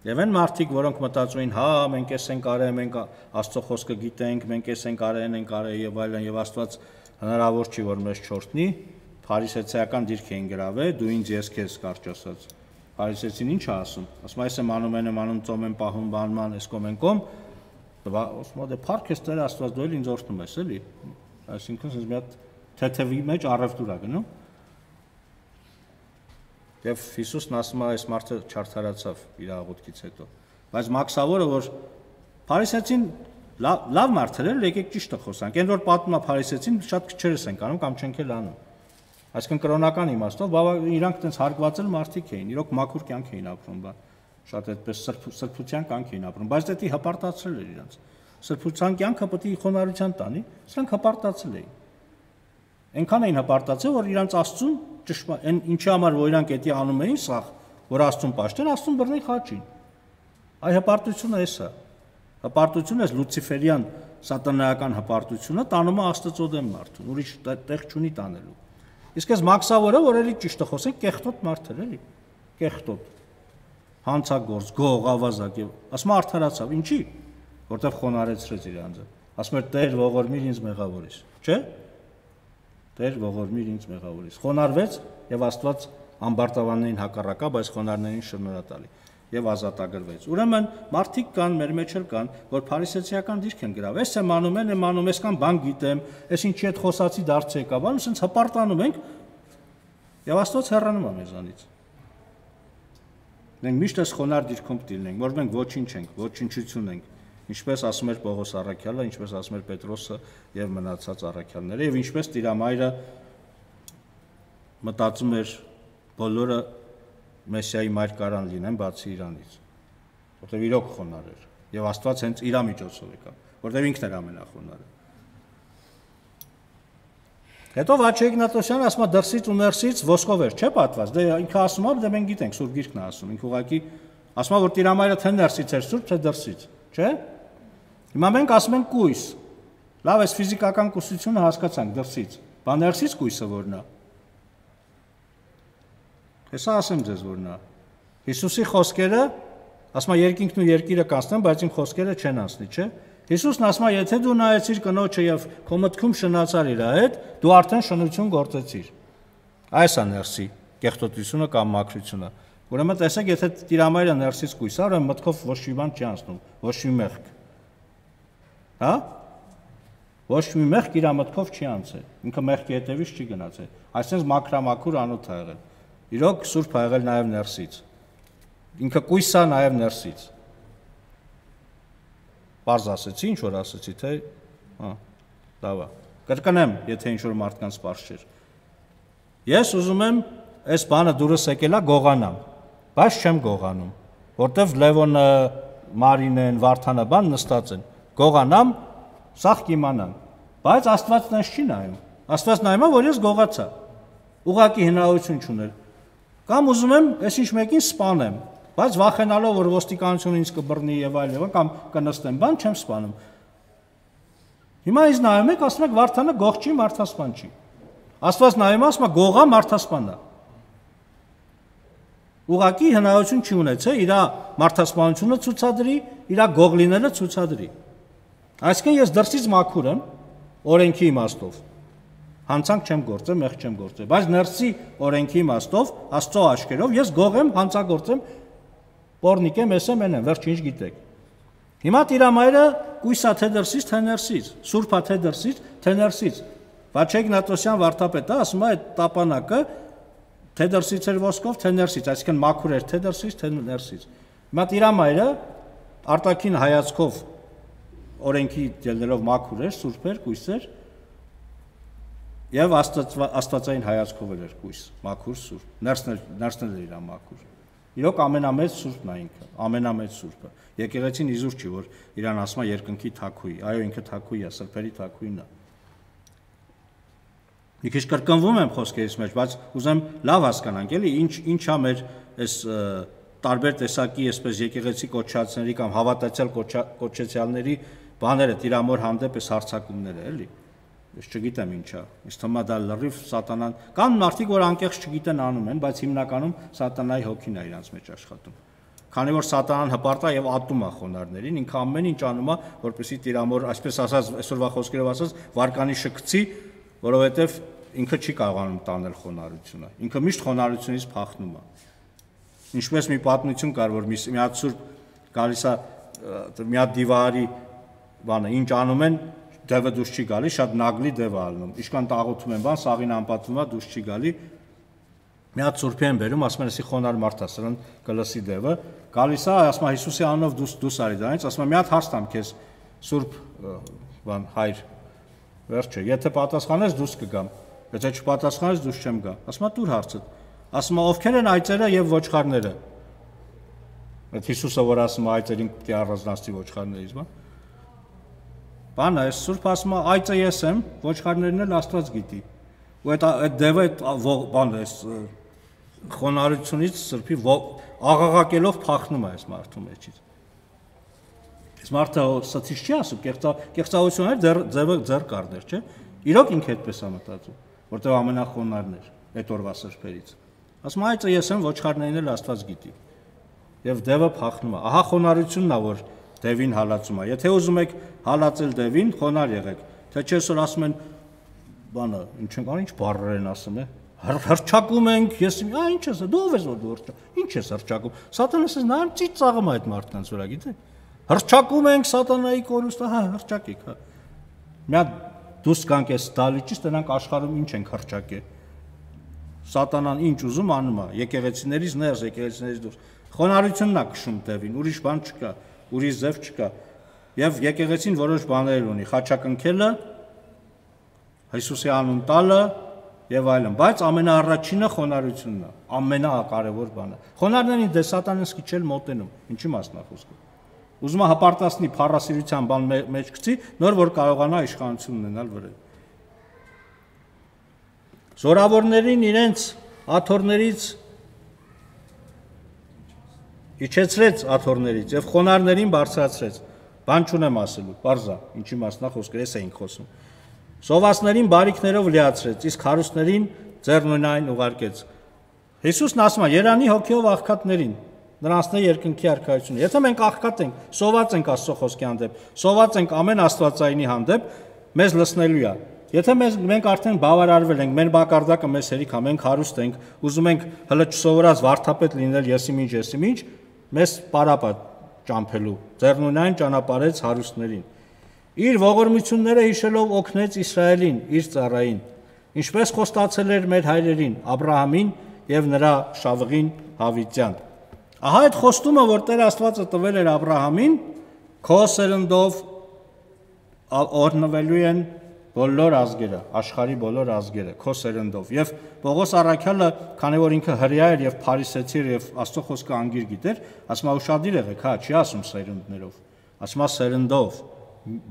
Եվ այն մարդիկ, որոնք մտածում են, հա, մենք էս ենք արել, մենք Աստծո խոսքը գիտենք, մենք էս ենք արել եւ այլն, եւ Աստված հնարավոր չի, որ մեզ չորտնի, փարիսեցիական դիրք էին գրավել, դու ինձ ես քեզ կարճ ասած։ Փարիսեցին ինչ է ասում։ Ասում այս եմ անում, ծոմ եմ պահում, բանման, էս կոմ, ասում դե փառք ես Տեր Աստված, դու էլ ինձ օրհնում ես, էլի։ Այսինքն ինձ մի հատ թեթևի մեջ առևտուր է գնում։ Եվ Հիսուսն ասում է, այս մարդը չարդարացավ իր աղոթքից հետո։ Բայց մաքսավորը, որ փարիսեցին լավ մարդեր են, եկեք ճիշտը խոսանք։ Այն որ պատմում է փարիսեցին, շատ քչերս են անում կամ չենք էլ անում։ Այսինքն կրոնական իմաստով, իրանք այդպես հարգվածել մարդիկ էին, իրոք մաքուր կյանք էին ապրում, շատ այդպես սրբության կյանք էին ապրում, բայց դա հպարտացրել էր իրանց։ Սրբության կյանքը պետք է խոնարհության տանի, սրանք հպարտացել էին։ Այնքան էին հպարտացել, որ իրանց Աստծուն այն ինչի համար որ իրանք էդի անում էին սա, որ Աստծուն պաշտեն, Աստծուն բռնի խաչին։ Այ հպարտությունը էսա։ Հպարտությունը էս լուցիֆերյան սատանայական հպարտությունը տանում է Աստծո դեմ մարդուն, ուրիշ տեղ չունի տանելու։ Իսկ այս մաքսավորը, որ էլի ճիշտը խոսենք, կեղտոտ մարդ էր, էլի։ Կեղտոտ։ Հանցագործ, գող, ավազակ եւ ասում արդարացավ, ինչի՞։ Որտեվ խոնարհեցրեց իր անձը։ Ասում էր Տեր ողորմիր ինձ մեղավորից, չէ՞։ Տեր ողորմիր ինձ մեղավորից։ Խոնարհվեց եւ Աստված ամբարտավաններին հակառակա, բայց խոնարհներին շնորհատալի եւ ազատագրվեց։ Ուրեմն մարդիկ կան, մեր մեջ էլ կան, որ փարիսեցիական դիրք են գրավ։ Էս եմ անում, էս կան բան գիտեմ, էս ինչի հետ խոսացի դարձ եկա, բան ասենց հպարտանում ենք եւ Աստված հեռանում է մեզանից։ Մենք միշտ էս խոնարհ դիրքում դիլնենք, որ մենք ոչինչ ենք, ոչնչություն ենք։ Ինչպես ասում էր Պողոս առաքյալը, ինչպես ասում էր Պետրոսը եւ մնացած առաքյալները, եւ ինչպես Տիրամայրը մտածում էր բոլորը Մեսիայի մայր կարան լինեն բացի իրանից, որտեղ իրոք խոնարհ էր, եւ Աստված հենց իր միջոցով եկավ, որտեղ ինքն էր ամենախոնարհը։ Հետո Վաչե Իգնատոսյանը ասում է դրսից ու ներսից ոսկով էր, չէ՞ պատված։ Դե ինքը ասում է, դե մենք գիտենք, Սուրբ Գիրքն է ասում։ Ինքը ուղղակի ասում է, որ Տիրամայրը թե ներսից էր Սուրբ, թե դրսից, չէ՞։ Հիմա մենք ասում ենք կույս։ Լավ, այս ֆիզիկական կուսությունը հասկացանք դրսից։ Բա ներսից կույսը որն է։ Հեսա ասեմ ձեզ որն է։ Հիսուսի խոսքերը, ասում է երկինքն ու երկիրը կանցնեն, բայց իմ խոսքերը չեն անցնի, չէ՞։ Հիսուսն ասում է, եթե դու նայեցիր կնոջը եւ քո մտքում շնացար իր հետ, դու արդեն շնություն գործեցիր։ Այս է ներսի կեղտոտությունը կամ մաքրությունը։ Ուրեմն տեսեք, եթե Տիրամայրը ներսից կույս է, ուրեմն մտքով ոչ մի բան չի անցնում, ոչ մի մեղք։ Հա? Ոչ մի մեղք իր մտքով չի անցել։ Ինքը մեղքի հետևից չի գնացել։ Այսինքն մաքրամաքուր անոթ է եղել։ Իրոք Սուրբ է եղել նաև ներսից։ Ինքը կույս է նաև ներսից։ Պարզ ասեցի, ինչ որ ասեցի, թե լավ է։ Կրկնեմ, եթե ինչ որ մարդկանց պարզ չէր։ Ես ուզում եմ այս բանը դուրս եկելա գողանամ, բայց չեմ գողանում, որտեվ Լևոնը, Մարինեն, Վարդանը բան նստած են։ Գողանամ, սաղ կիմանամ, բայց Աստված նենց չի նայում։ Աստված նայում է, որ ես գողացա։ Ուղղակի հնարավորություն չուներ։ Կամ ուզում եմ այսինչ մեկին սպանեմ, բայց վախենալով, որ ոստիկանությունը ինձ կբռնի եւ այլ, կամ կնստեմ, բան չեմ սպանում։ Հիմա ինձ նայում եք, ասում եք Վարդանը գող չի, մարդասպան չի։ Աստված նայում է, ասում է գողա մարդասպան է։ Ուղղակի հնարավորություն չի ունեցել իր մարդասպանությունը ցուցադրի, իր գող լինելը ցուցադրի։ Այսինքն ես դրսից մաքուր եմ, օրենքի իմաստով։ Հանցանք չեմ գործել, մեղք չեմ գործել, բայց ներսի օրենքի իմաստով, Աստծո աչքերով ես գող եմ, հանցագործեմ, պոռնիկ եմ, ես եմ, վերջ ինչ գիտեք։ Հիմա Տիրամայրը կույսա թե դրսից, թե ներսից, Սուրբա թե դրսից, թե ներսից։ Վաչե Իգնատոսյան վարդապետը ասում է այդ տապանակը թե դրսից էր ոսկով, թե ներսից, այսինքն մաքուր էր թե դրսից, թե ներսից։ Հիմա Տիրամայրը արտաքին հայացքով օրենքի ելնելով մաքուր էր, սուրբ էր, կույս էր, եւ աստվածային հայացքով էր կույս, մաքուր, սուրբ, ներսն էր իր մաքուր։ Իրոք ամենամեծ սուրբն է ինքը, ամենամեծ սուրբը։ Եկեղեցին իզուր չի, որ իրան ասում է երկնքի թագուհի, այո, ինքը թագուհի է, սրբերի թագուհին է։ Մի քիչ կրկնվում եմ խոսքերից մեջ, բայց ուզեմ լավ հասկանանք, էլի, ինչա մեր այս տարբեր տեսակի այսպես եկեղեցի կոչացների կամ հավատացյալ կոչեցյալների բաները Տիրամոր հանդեպ այս հարցակումները, էլի։ Ես չգիտեմ ինչա։ Ինձ թվում է դա լրիվ սատանան, կան մարդիկ, որ անկեղծ չգիտեն անում են, բայց հիմնականում սատանայի հոգին է իրանց մեջ աշխատում։ Քանի որ սատանան հպարտ է եւ ատում է խոնարհներին, ինքը ամեն ինչ անում է, որպեսզի Տիրամոր, այսպես ասած, այսօրվա խոսքերով ասած, վարկանիշը գցի, որովհետեւ ինքը չի կարողանում տանել խոնարհությունը։ Ինքը միշտ խոնարհությունից փախնում է։ Ինչպես մի պատմություն կար, որ մի հատ սուրբ գալիս է մի հատ դիվարի բանը, ինչ անում են, դևը դուրս չի գալի, շատ նագլի դև է ալնում։ Իշքան տաղոթում են բան, սաղին անպատվում է, դուրս չի գալի։ Մի հատ սուրբի են բերում, ասում են, «Էսի խոնարհ մարդ է, սրան կլսի դևը»։ Գալիս է, ասում է, Հիսուսի անունով դուրս արի դրանից, ասում է, «Մի հատ հարց տամ քեզ, սուրբ բան հայր»։ Վերջը, եթե պատասխանես, դուրս կգամ։ Եթե չպատասխանես, դուրս չեմ գա։ Ասում է, «Տուր հարցը»։ Ասում է, «Ովքեր են այծերը եւ ոչխարները»։ Այդ Հիսուսը, որ ասում է, այծերին պիտի առանձնացնի ոչխարներից, բան։ Բանը, այս սուրբ ասում է, այծը ես եմ, ոչխարներն էլ Աստված գիտի։ Ու այդ դևը բանը, այս խոնարհությունից սրբի աղաղակելով փախնում է այս մարդու մեջից։ Այս մարդը սծիչ չի ասում, կեղծավորություններ ձեռ կառներ, չէ՞։ Իրոք ինքը այդպես է մտածում, որտեղ ամենախոնարհն էր այդ օրվա սրբերից։ Ասում է, այծը ես եմ, ոչխարներն էլ Աստված գիտի։ Եվ դևը փախնում է։ Ահա խոնարհությունն է, որ դևին հալածում է։ Եթե ուզում եք հալածել դևին, խոնարհ եղեք։ Թե չէ այսօր ասում են, բանը, ինչ են կան, ինչ բառեր են ասում է։ Հրճակում ենք, ես ինչ ես, դու ով ես որ դու ինչ ես հրճակում։ Սատանան ասես նայում ծիծ ծաղում է այդ մարդկանց վրա, գիտեք։ Հրճակում ենք սատանայի կորուստը, հա, հրճակեք, հա։ Մի հատ դուս կանք էս դալիճից տնանք աշխարհում ինչ ենք հրճակել։ Սատանան ինչ ուզում անում է, եկեղեցիներից ներս, եկեղեցիներից դուրս։ Խոնարհությունն է քշում դևին, ուրիշ բան չկա, ուրիշ ձև չկա։ Եվ եկեղեցին որոշ բաներ ունի, խաչակնքելը, Հիսուսի անուն տալը եւ այլն, բայց ամենաառաջինը խոնարհությունն է, ամենակարևոր բանը։ Խոնարհներին դե սատանան սկիչել մոտենում, ինչի մասն է խոսքը։ Ուզում է հպարտացնի փառասիրության բան մեջ գցի, նոր որ կարողանա իշխանություն ունենալ վրա։ Զորավորներին իրենց աթոռներից իջեցրեց աթոռներից եւ խոնարհներին բարձրացրեց։ Բան չունեմ ասելու, բարձա, ինչի մասնա խոսքը, ես էինք խոսում։ Սովածներին բարիքներով լիացրեց, իսկ հարուստներին ձեռնունայն ուղարկեց։ Հիսուսն ասում է. «Երանի հոգիով աղքատներին, նրանցն է երկնքի արքայությունը»։ Եթե մենք աղքատ ենք, սոված ենք Աստծո խոսքի հանդեպ, սոված ենք ամեն աստվածայինի հանդեպ, մեզ լսնելու է։ Եթե մենք արդեն բավարարվել ենք, մեր մակարդակը մեզ հերիք է, մենք հարուստ ենք, ուզում ենք հələ չսովորած վարդապետ լինել եսիմինչ, մեզ պարապա ճամփելու, ձեռնունայն ճանապարհեց հարուստներին։ Իր ողորմությունները հիշելով օգնեց Իսրայելին, իր ծառային, ինչպես խոստացել էր մեր հայրերին, Աբրահամին եւ նրա շավղին Հավիտյան։ Ահա այդ խոստումը, որ Տեր Աստվածը տվել էր Աբրահամին, քո սերնդով օրհնվելու են բոլոր ազգերը, աշխարհի բոլոր ազգերը, քո սերնդով։ Եվ Պողոս առաքյալը, քանի որ ինքը հրյա էր եւ փարիսեցի էր եւ Աստծո խոսքը անգիր գիտեր, ասում է ուշադիր եղեք, հա, չի ասում սերնդներով, ասում է սերնդով,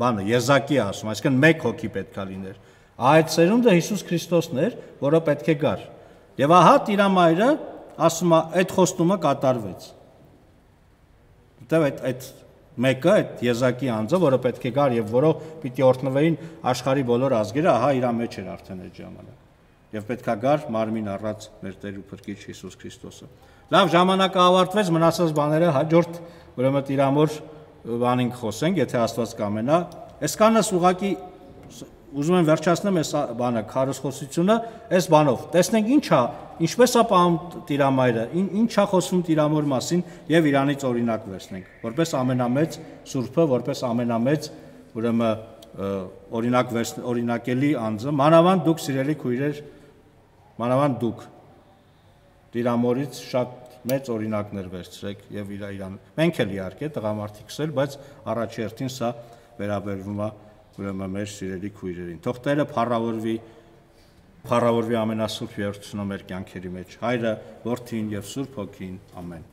բանը եզակի ասում, այսինքն մեկ հոգի պետքա լիներ։ Այդ սերունդը Հիսուս Քրիստոսն էր, որը պետք է գար։ Եվ ահա Տիրամայրը ասում է, այդ խոստումը կատարվեց։ Որտեւ այդ մեկը, այդ եզակի անձը, որը պետք է գար եւ որով պիտի օրհնվեին աշխարհի բոլոր ազգերը, ահա իր մեջ էր արդեն այդ ժամանակ։ Եվ պետքա գար մարմին առած մեր Տեր ու Փրկիչ Հիսուս Քրիստոսը։ Լավ, ժամանակը ավարտվեց, մնացած բաները հաջորդ ուրեմն Տիրամոր բանին խոսենք, եթե Աստված կամենա։ Այսքանս ուղակի ուզում եմ վերջացնեմ այս բանը, քարոզխոսությունը այս բանով։ Տեսնենք ինչպես է պահում Տիրամայրը, ինչ է խոսում Տիրամոր մասին եւ իրանից օրինակ վերցնենք, որպես ամենամեծ Սուրբը, որպես ամենամեծ ուրեմն օրինակելի անձը, մանավանդ դուք սիրելի քույրեր, մանավանդ դուք Տիրամորից շատ մեծ օրինակներ վերցրեք եւ իրան։ Մենք էլ իհարկե տղամարդիկս էլ, բայց առաջի հերթին սա վերաբերվում է ուրեմն մեր սիրելի քույրերին։ Թող Տերը փառավորվի ամենասուրբ երրորդությունը մեր կյանքերի մեջ, Հայրը, Որդին եւ Սուրբ Հոգին։ Ամեն։